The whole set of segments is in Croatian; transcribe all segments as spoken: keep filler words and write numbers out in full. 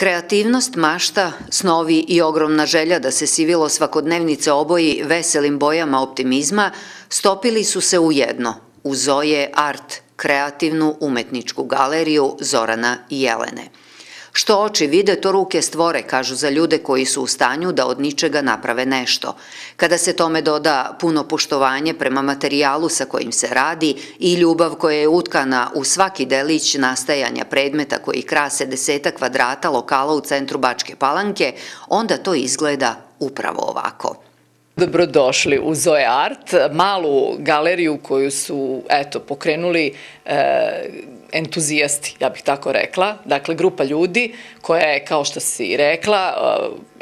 Kreativnost, mašta, snovi i ogromna želja da se sivilo svakodnevnice oboji veselim bojama optimizma stopili su se u jedno, u Zoe Art, kreativnu umetničku galeriju Zorana i Jelene. Što oči vide, to ruke stvore, kažu za ljude koji su u stanju da od ničega naprave nešto. Kada se tome doda puno poštovanje prema materijalu sa kojim se radi i ljubav koja je utkana u svaki delić nastajanja predmeta koji krase deseta kvadrata lokala u centru Bačke Palanke, onda to izgleda upravo ovako. Dobrodošli u Zoe Art, malu galeriju koju su, eto, pokrenuli e, entuzijasti, ja bih tako rekla. Dakle, grupa ljudi koja je, kao što si rekla,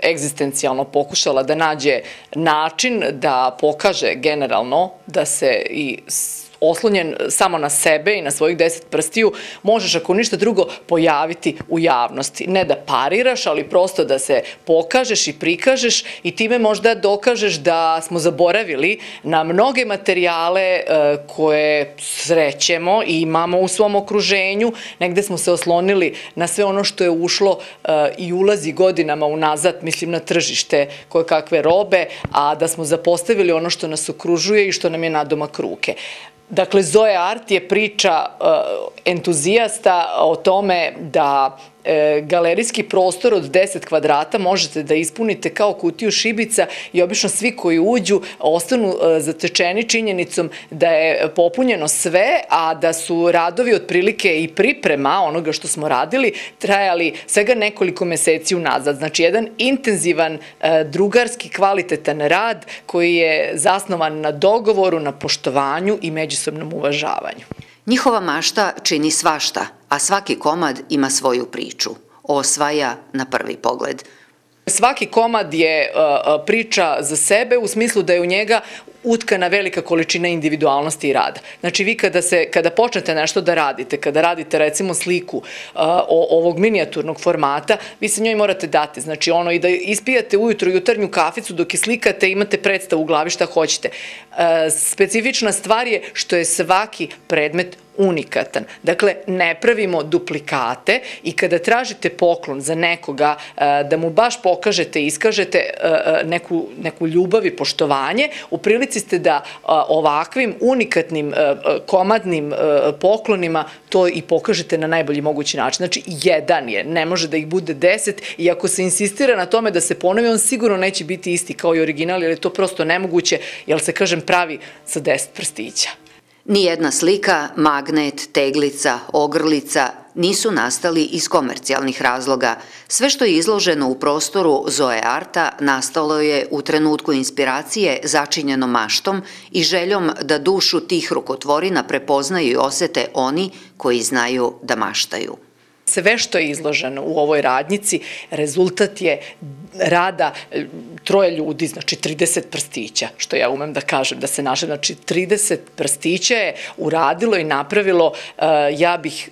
e, egzistencijalno pokušala da nađe način da pokaže generalno da se i oslonjen samo na sebe i na svojih deset prstiju, možeš ako ništa drugo pojaviti u javnosti. Ne da pariraš, ali prosto da se pokažeš i prikažeš i time možda dokažeš da smo zaboravili na mnoge materijale koje srećemo i imamo u svom okruženju. Negde smo se oslonili na sve ono što je ušlo i ulazi godinama unazad, mislim na tržište koje kakve robe, a da smo zapostavili ono što nas okružuje i što nam je nadomak ruke. Dakle, Zoe Art je priča entuzijasta o tome da galerijski prostor od deset kvadrata možete da ispunite kao kutiju šibica i obično svi koji uđu ostanu zatečeni činjenicom da je popunjeno sve, a da su radovi otprilike i priprema onoga što smo radili trajali svega nekoliko meseci unazad. Znači, jedan intenzivan, drugarski, kvalitetan rad koji je zasnovan na dogovoru, na poštovanju i međusobnom uvažavanju. Njihova mašta čini svašta, a svaki komad ima svoju priču. Osvaja na prvi pogled. Svaki komad je priča za sebe u smislu da je u njega utkana velika količina individualnosti i rada. Znači, vi kada, se, kada počnete nešto da radite, kada radite recimo sliku uh, ovog minijaturnog formata, vi se njoj morate dati. Znači, ono i da ispijate ujutru jutarnju kaficu dok je slikate, imate predstavu u glavi šta hoćete. Uh, specifična stvar je što je svaki predmet unikatan. Dakle, ne pravimo duplikate i kada tražite poklon za nekoga da mu baš pokažete i iskažete neku, neku ljubav i poštovanje, u prilici ste da ovakvim unikatnim komadnim poklonima to i pokažete na najbolji mogući način. Znači, jedan je, ne može da ih bude deset i ako se insistira na tome da se ponovi, on sigurno neće biti isti kao i original, jer je to prosto nemoguće, jer se, kažem, pravi sa deset prstića. Nijedna slika, magnet, teglica, ogrlica nisu nastali iz komercijalnih razloga. Sve što je izloženo u prostoru Zoe Arta nastalo je u trenutku inspiracije začinjeno maštom i željom da dušu tih rukotvorina prepoznaju i osete oni koji znaju da maštaju. Sve što je izloženo u ovoj radnjici, rezultat je rada troje ljudi, znači trideset prstića, što ja umem da kažem, da se naše, znači trideset prstića je uradilo i napravilo, ja bih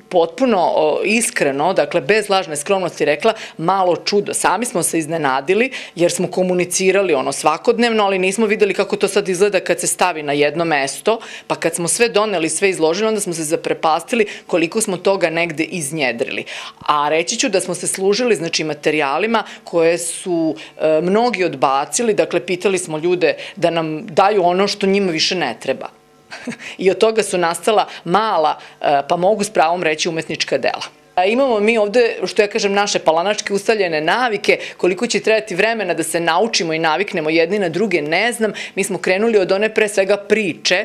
potpuno iskreno, dakle bez lažne skromnosti rekla, malo čudo. Sami smo se iznenadili jer smo komunicirali ono svakodnevno, ali nismo videli kako to sad izgleda kad se stavi na jedno mesto, pa kad smo sve doneli, sve izložili, onda smo se zaprepastili koliko smo toga negde iznjedrili. A reći ću da smo se služili, znači, materijalima koje su e, mnogi odbacili, dakle pitali smo ljude da nam daju ono što njima više ne treba. I od toga su nastala mala, pa mogu s pravom reći, umetnička dela. Imamo mi ovde, što ja kažem, naše palanačke ustaljene navike, koliko će trebati vremena da se naučimo i naviknemo jedni na druge, ne znam. Mi smo krenuli od one pre svega priče,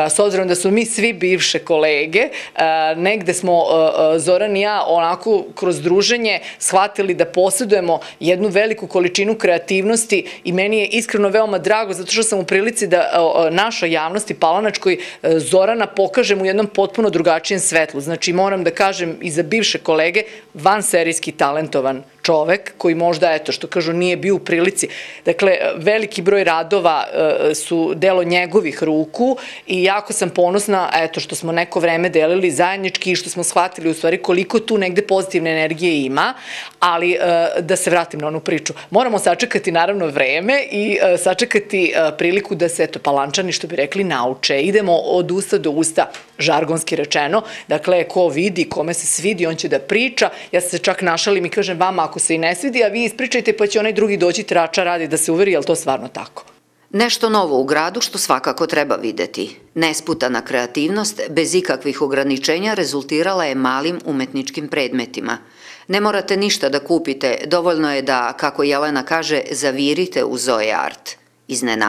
s obzirom da su mi svi bivše kolege, negde smo Zoran i ja onako kroz druženje shvatili da posjedujemo jednu veliku količinu kreativnosti i meni je iskreno veoma drago zato što sam u prilici da našoj javnosti palanačkoj Zorana pokažem u jednom potpuno drugačijem svetlu. Znači, moram da kažem i za bivše kolege, vanserijski talentovan čovek koji možda, eto, što kažu, nije bio u prilici. Dakle, veliki broj radova su delo njegovih ruku i jako sam ponosna, eto, što smo neko vreme delili zajednički i što smo shvatili u stvari koliko tu negde pozitivne energije ima, ali da se vratim na onu priču. Moramo sačekati naravno vreme i sačekati priliku da se, eto, Palančani, što bi rekli, nauče. Idemo od usta do usta, žargonski rečeno. Dakle, ko vidi, kome se svidi, on će da priča. Ja se čak našalim i kažem vama, ako se i ne svidi, a vi ispričajte pa će onaj drugi doći trača radi da se uveri, je li to stvarno tako? Nešto novo u gradu što svakako treba videti. Nesputana kreativnost, bez ikakvih ograničenja, rezultirala je malim umetničkim predmetima. Ne morate ništa da kupite, dovoljno je da, kako Jelena kaže, zavirite u Zoe Art. Iznenadite